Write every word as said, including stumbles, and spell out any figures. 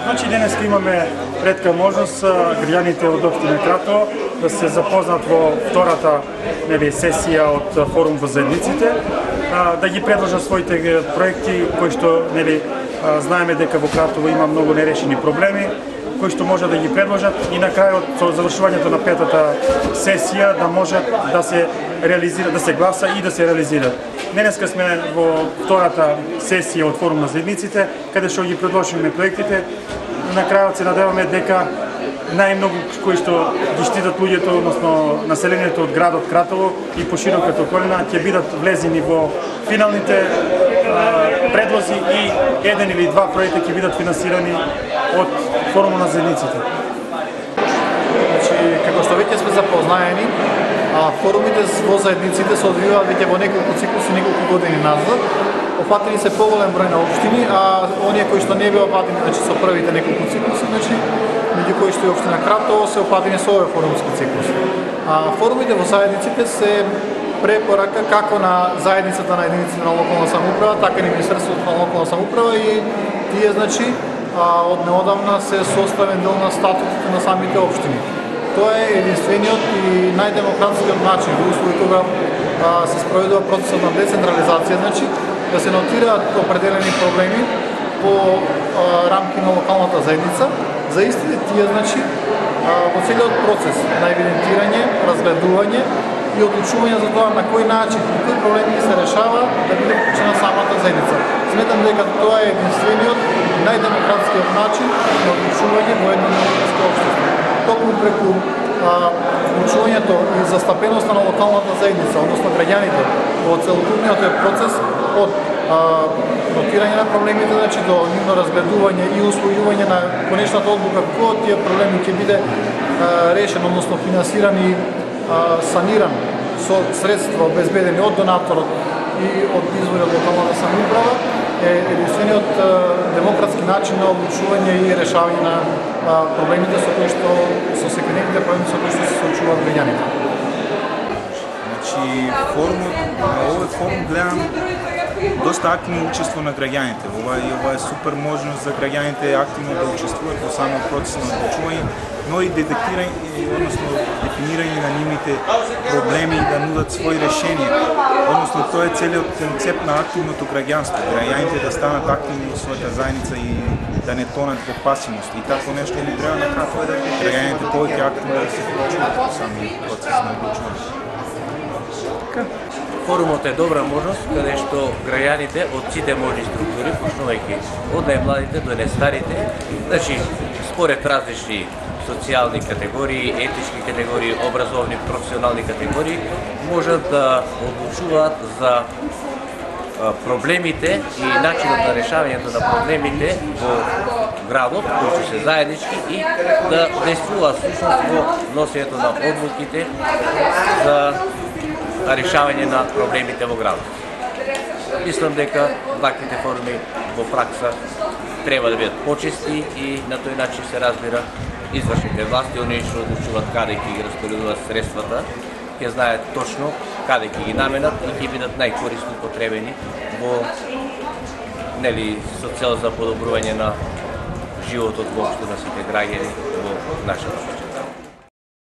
Значи денеска имаме ретка можност граѓаните од општина Кратово да се запознат во втората нели сесија од форум во заедниците, да ги предложат своите проекти кои што нели знаеме дека во Кратово има многу нерешени проблеми кои што може да ги предложат и на крајот со завршувањето на петата сесија да може да се реализира, да се гласа и да се реализира. Денеска сме во втората сесија од форум на заедниците, каде што ги предложиме проектите. На крајот се надеваме дека најмногу кои што ги штитат луѓето, односно населението од градот Кратово и пошироката околина ќе бидат влезени во финалните а, предлози и еден или два проекта ќе бидат финансирани од форумот на заедниците. Значи, како што веќе сме запознаени, а, форумите во заедниците се одвиваат веќе во неколку циклуси, неколку години назад. Опфатени се поголем број на општини, а оние кои што не беа опфатени, значи со првите неколку циклуси, значи меѓу кои што и општина Кратово се опфатени со овој форумски циклус. А форумите во заедниците се препорака како на заедницата на единиците на локална самоуправа, така и на Министерството на локална самоуправа и тие значи од неодамна се составен дел на статутите на самите општини. Тоа е единствениот и најдемократскиот начин во услови кога се спроведува процесот на децентрализација, значи да се нотираат определени проблеми по а, рамки на локалната заедница, за истите тие значи во целиот процес на евидентирање, разгледување и одлучување за тоа на кој начин и кои проблеми се решава да биде вклучена самата заедница. Сметам дека тоа е единствениот и најдемократскиот начин на одлучување во едно демократско општество. Токму преку вклучувањето и застапеноста на локалната заедница, односно граѓаните во целокупниот процес од а, нотирање на проблемите, значи до нивно разгледување и усвојување на конечната одлука кој од тие проблеми ќе биде а, решен, односно финансиран и а, саниран со средства обезбедени од донаторот и од извори од локалната самоуправа е единствениот демократски начин на одлучување и решавање на а, проблемите со кои што со секојдневните проблеми со кои што се соочуваат граѓаните. Значи форумот, на овој форум гледам доста активно учество на граѓаните. Ова е, ова е супер можност за граѓаните активно да учествуваат во самиот процес на одлучување, но и детектирање, односно дефинирање на нивните проблеми и да нудат своји решенија. Односно тоа е целиот концепт на активното граѓанство. Граѓаните да станат активни во својата заедница и да не тонат во пасивност. И тако нешто ни треба на Кратово да граѓаните повеќе активно да се вклучуваат во самиот процес на одлучување. Форумот е добра можност каде што граѓаните од сите можни структури, почнувајќи од најмладите до најстарите, значи според различни социјални категории, етички категории, образовни, професионални категории, можат да одлучуваат за проблемите и начинот на решавањето на проблемите во градот, кои што се заеднички и да действуваат всушност во носењето на одлуките за решавање на проблемите во градот. Мислам дека ваквите форми во пракса треба да бидат почести и на тој начин се разбира извршните власти, оние што одлучуваат каде ќе ги распоредуваат средствата, ќе знаат точно каде ќе ги наменат и ќе бидат најкорисно потребени во нели со цел за подобрување на животот воопшто на сите граѓани во нашата општина.